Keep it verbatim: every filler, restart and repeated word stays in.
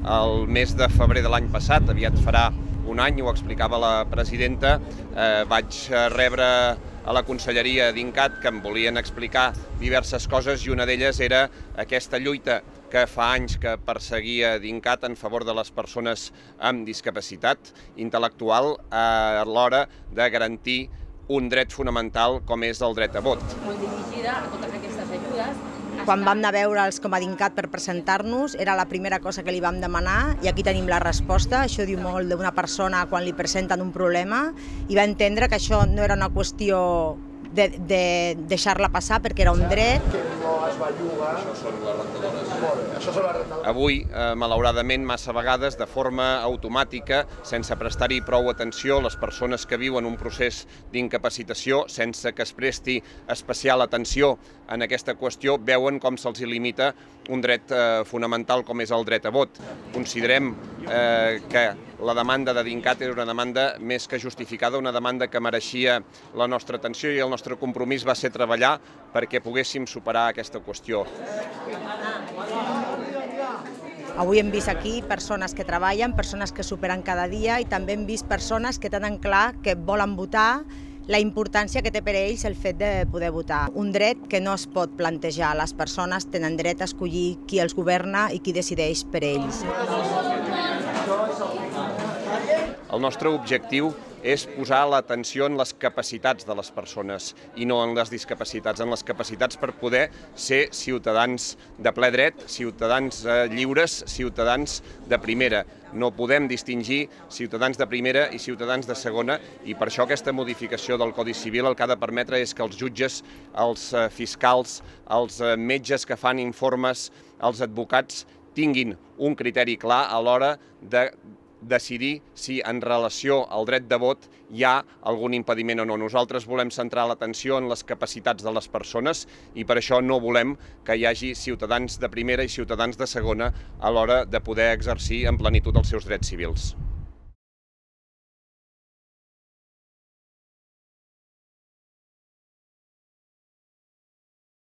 El mes de febrer de l'any passat, aviat farà un any, ho explicava la presidenta, eh, vaig rebre a la Conselleria d'INCAT que em volien explicar diverses coses i una d'elles era aquesta lluita que fa anys que perseguia d'INCAT en favor de les persones amb discapacitat intel·lectual a l'hora de garantir un dret fonamental com és el dret a vot. Molt dirigida a totes aquestes ajudes. Quan vam anar a veure'ls com a d'INCAT per presentar-nos, era la primera cosa que li vam demanar i aquí tenim la resposta. Això diu molt d'una persona quan li presenten un problema i va entendre que això no era una qüestió de, de deixar-la passar perquè era un dret. Això són les rentadores. Avui, eh, malauradament, massa vegades, de forma automàtica, sense prestar-hi prou atenció, les persones que viuen un procés d'incapacitació, sense que es presti especial atenció en aquesta qüestió, veuen com se'ls limita un dret eh, fonamental com és el dret a vot. Considerem eh, que la demanda de d'INCAT era una demanda més que justificada, una demanda que mereixia la nostra atenció i el nostre compromís va ser treballar perquè poguéssim superar aquesta qüestió. Avui hem vist aquí persones que treballen, persones que superen cada dia i també hem vist persones que tenen clar que volen votar, la importància que té per a ells el fet de poder votar. Un dret que no es pot plantejar. Les persones tenen dret a escollir qui els governa i qui decideix per ells. El nostre objectiu és posar l'atenció en les capacitats de les persones i no en les discapacitats, en les capacitats per poder ser ciutadans de ple dret, ciutadans lliures, ciutadans de primera. No podem distingir ciutadans de primera i ciutadans de segona i per això aquesta modificació del Codi Civil el que ha de permetre és que els jutges, els fiscals, els metges que fan informes, els advocats tinguin un criteri clar a l'hora de decidir si en relació al dret de vot hi ha algun impediment o no. Nosaltres volem centrar l'atenció en les capacitats de les persones i per això no volem que hi hagi ciutadans de primera i ciutadans de segona a l'hora de poder exercir en plenitud els seus drets civils.